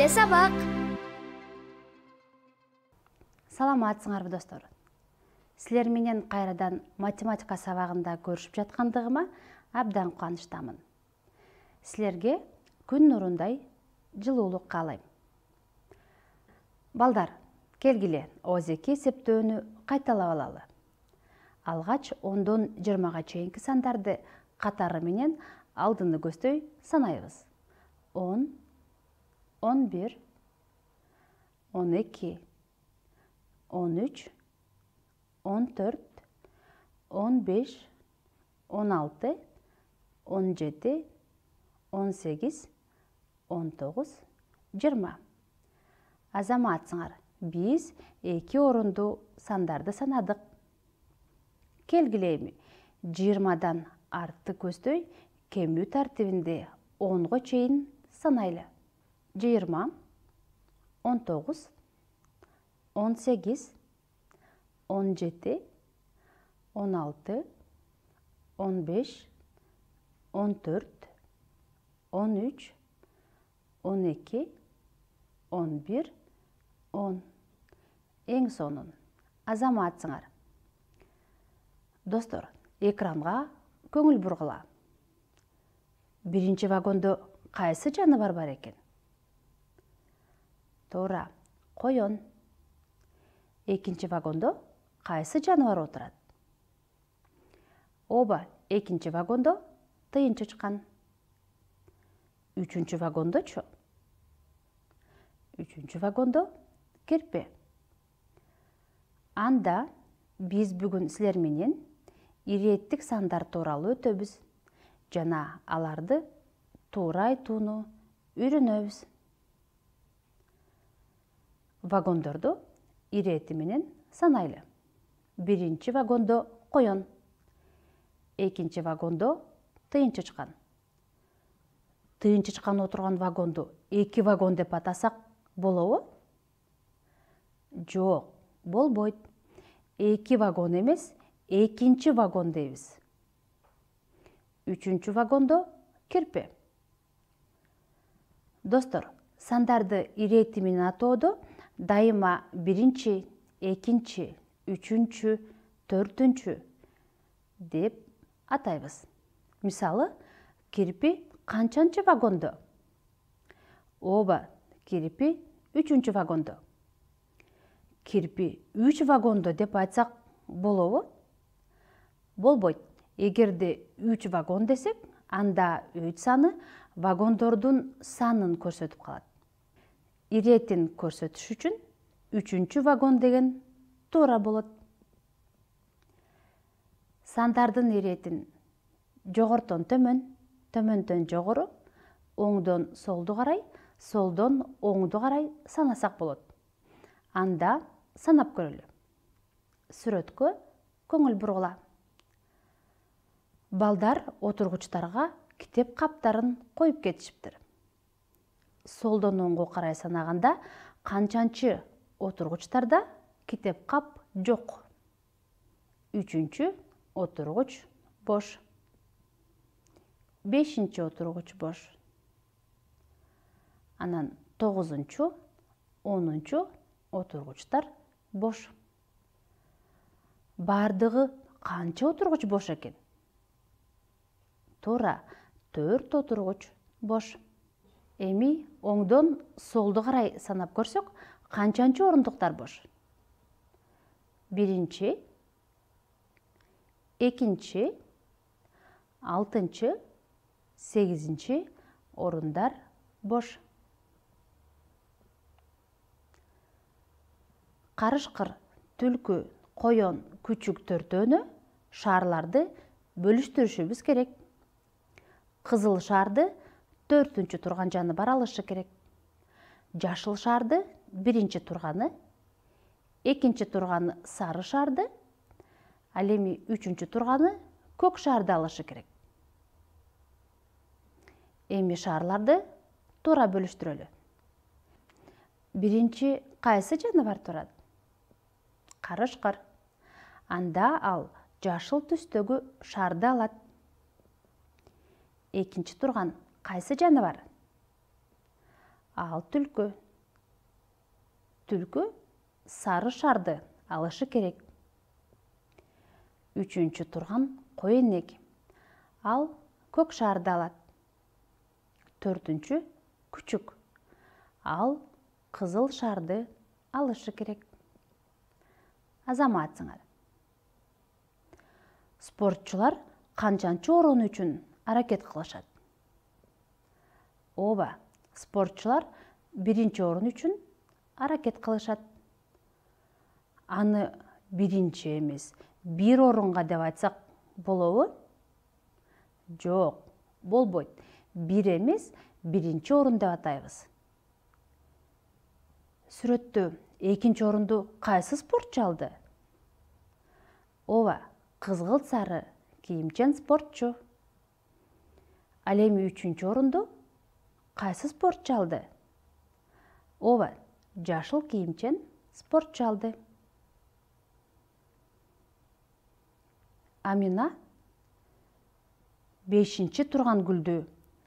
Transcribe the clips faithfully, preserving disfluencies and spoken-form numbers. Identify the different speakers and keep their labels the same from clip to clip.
Speaker 1: Келе сабак.
Speaker 2: Саламатсыңарбы достор. Силер менен кайрадан математика сабагында көрүшүп жаткандыгыма абдан кубанычтамын. Силерге күн нурундай жылуулук каалайм. Балдар, келгиле ооз эки эсептөөнү кайталап алалы. Алгач ондон жыйырмага чейинки сандарды катары менен алдыны көздөй санайбыз. он, он бир, он эки, он үч, он төрт, он беш, он алты, он жети, он сегиз, он тогуз, жыйырма. Азаматсыңар, биз эки орундуу сандарды санадык. Келгиле эми жыйырмадан артты көздөй кемүү тартибинде онго чейин санайлы. жыйырма, он тогуз, он сегиз, он жети, он алты, он беш, он төрт, он үч, он эки, он бир, он. Эң сонун. Азаматсыңар. Достор, экранга көңүл бургула. Биринчи вагондо кайсы жаныбар бар экен? Туура, коён. Экинчи вагондо кайсы жаныбар отурат? Ооба, экинчи вагондо тыйын чычкан. Үчүнчү вагондочу? Үчүнчү вагондо керпе. Анда биз бүгүн силер менен ирэттик сандар тууралуу өтөбүз жана аларды туура айтууну үйрөнөбүз. Вагондорду ирэти менен санайлы. Биринчи вагондо коён, экинчи вагондо тыйын чычкан. Тыйын чычкан отурган вагонду эки вагон деп атасак болобу? Жок, болбойт. Эки вагон эмес, экинчи вагон дейбиз. Үчүнчү вагондо керпе. Достор, сандарды ирэти менен атоодо дайыма биринчи, экинчи, үчүнчү, төртүнчү деп атайбыз. Мисалы, кирпи канчанчы вагондо? Ооба, кирпи үчүнчү вагондо. Кирпи үч вагондо деп айтсак болобу? Болбойт. Эгерде үч вагон десек, анда үч саны вагондордун санын көрсөтүп калат. Иретин көрсөтүш үчүн үчүнчү вагон деген туура болот. Сандардын иретин жогортон төмөн, төмөндөн жогору, оңдон солду карай, солдон оңду карай санасак болот. Анда санап көрөлү. Сүрөткө көңүл бургула. Балдар отургучтарга китеп каптарын коюп кетишиптир. Солдон оңго карай санаганда канчанчы отургучтарда китеп кап жок? Үчүнчү отургуч бош. Бешинчи отургуч бош. Анан тогузунчу, онунчу отургучтар бош. Бардыгы канча отургуч бош экен? Туура, төрт отургуч бош. Эми оңдон солду карай санап көрсөк, канчанчы орундуктар бош? Биринчи, экинчи, алтынчы, сегизинчи орундар бош. Карышкыр, түлкү, коён, күчүк төртөөнү шаарларды бөлүштүрүшүбүз керек. Кызыл шарды төртүнчү турган жаныбар алышы керек. Жашыл шарды биринчи турганы, экинчи турганы сары шарды, ал эми үчүнчү турганы көк шарды алышы керек. Эми шаарларды туура бөлүштүрөлү. Биринчи кайсы жаныбар турат? Карышкыр. Анда ал жашыл түстөгү шарды алат. Экинчи турган кайсы жаныбар? ал түлкү. Түлкү сары шарды алышы керек. Үчүнчү турган кой энек. Ал көк шарды алат. Төртүнчү күчүк. Ал кызыл шарды алышы керек. Азаматсыңар. Спортчулар канчанчы орун үчүн аракет кылышат? Ооба, спортчулар биринчи орун үчүн аракет кылышат. Аны биринчи эмес, бир орунга деп айтсак болобу? Жок, болбойт. Бир эмес, биринчи орун деп атайбыз. Сүрөттө экинчи орунду кайсы спортчу алды? Ооба, кызгылт сары кийимчен спортчу. Ал эми үчүнчү орунду кайсы спортчу алды? Ооба, жашыл кийимчен спортчу алды. Амина бешинчи турган гүлдү,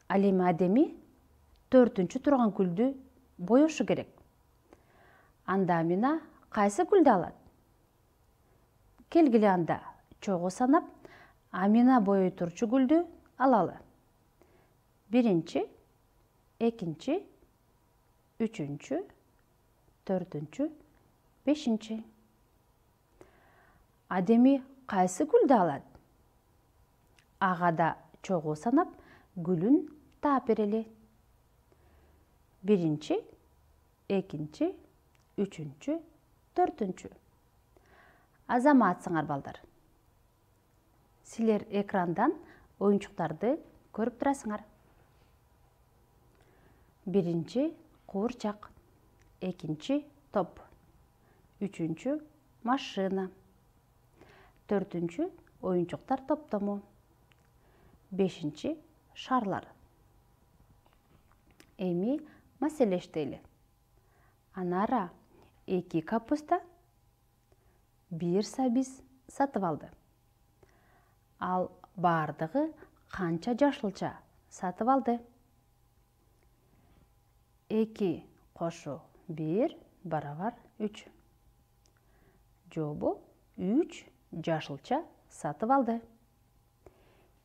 Speaker 2: ал эми Адеми төртүнчү турган гүлдү боешу керек. Анда Амина кайсы гүлдү алат? Келгиле анда чогуу санап, Амина боей турчу гүлдү алалы. Биринчи, экинчи, үчүнчү, төртүнчү, бешинчи. Адеми кайсы гүлдү алат? Ага да чогуу санап, гүлүн таап берели. Биринчи, экинчи, үчүнчү, төртүнчү. Азаматсыңар балдар. Силер экрандан оюнчуктарды көрүп турасыңар. Биринчи куурчак, экинчи топ, үчүнчү машина, төртүнчү оюнчуктар топтому, бешинчи шарлар. Эми маселештейли. Анара эки капуста, бир сабиз сатып алды. Ал бардыгы канча жашылча сатып алды? эки кошу бир барабар үч. Жобу үч жашылча сатып алды.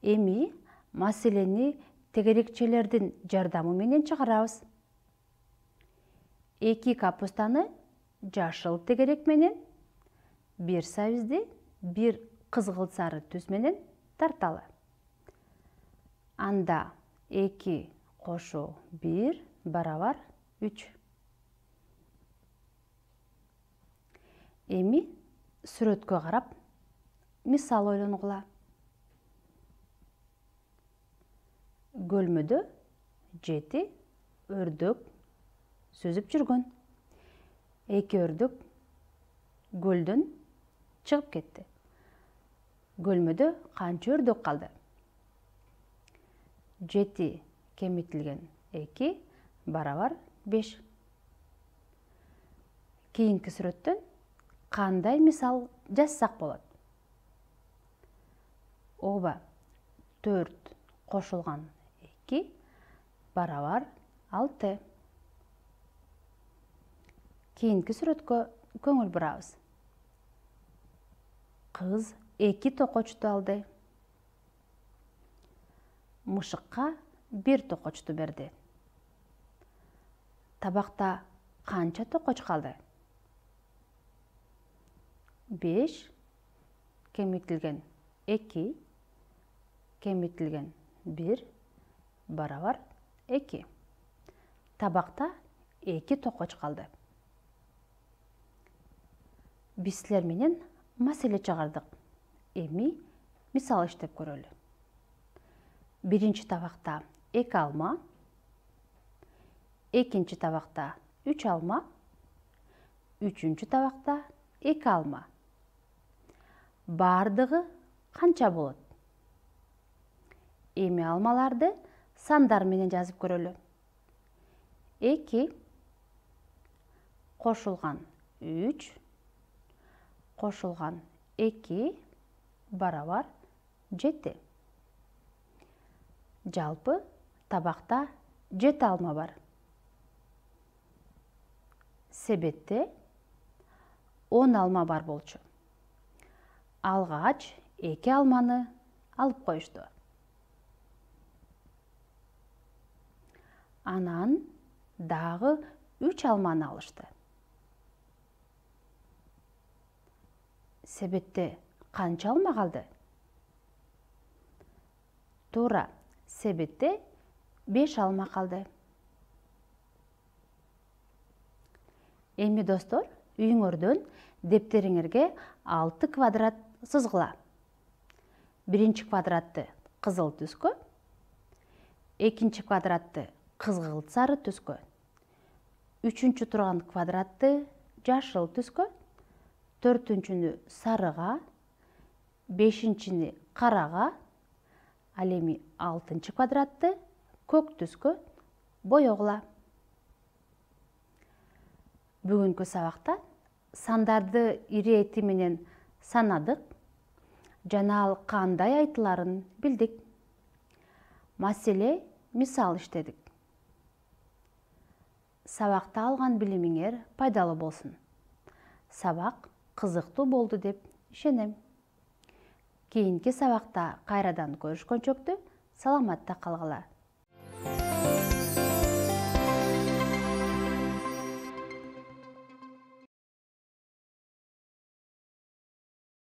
Speaker 2: Эми маселени тегерекчелердин жардамы менен чыгарабыз. эки капустаны жашыл тегерек менен, бир сабизди бир кызгылт сары түз менен тарталы. Анда эки кошу бир барабар үч. Эми сүрөткө карап мисал ойлонгула. Көлмөдө жети өрдөк сүзүп жүргөн. Эки өрдөк көлдөн чыгып кетти. Көлмөдө канча өрдөк калды? жети кемитилген эки барабар беш. Кийинки сүрөттөн кандай мисал жазсак болот? Ооба, төрт кошулган эки барабар алты. Кийинки сүрөткө көңүл бурабыз. Кыз эки токочту алды. Мышыкка бир токочту берди. Табакта канча токоч калды? беш кемитилген эки кемитилген бир барабар эки. Табакта эки токоч калды. Биз силер менен маселе чыгардык. Эми мисал иштеп көрөлү. Биринчи табакта эки алма, экинчи табакта үч алма, үчүнчү табакта эки алма. Бардыгы канча болот? Эми алмаларды сандар менен жазып көрөлү. эки кошулган үч кошулган эки барабар жети. Жалпы табакта жети алма бар. себетте он алма бар болчу. Алгач эки алманы алып коюшту. Анан дагы үч алманы алышты. Себетте канча алма калды? Туура, себетте беш алма калды. Эми достор, үйүңөрдөн дептериңерге алты квадрат сызгыла. Биринчи квадратты кызыл түскө, экинчи квадратты кызгылт сары түскө, үчүнчү турган квадратты жашыл түскө, төртүнчүнү сарыга, бешинчини карага, ал эми алтынчы квадратты көк түскө боегула. Бүгүнкү сабакта сандарды ирети менен санадык жана ал кандай айтыларын билдик. Маселе мисал иштедик. Сабакта алган билимиңер пайдалуу болсун. Сабак кызыктуу болду деп ишенем. Кийинки сабакта кайрадан көрүшкөнчөктү саламатта калгыла.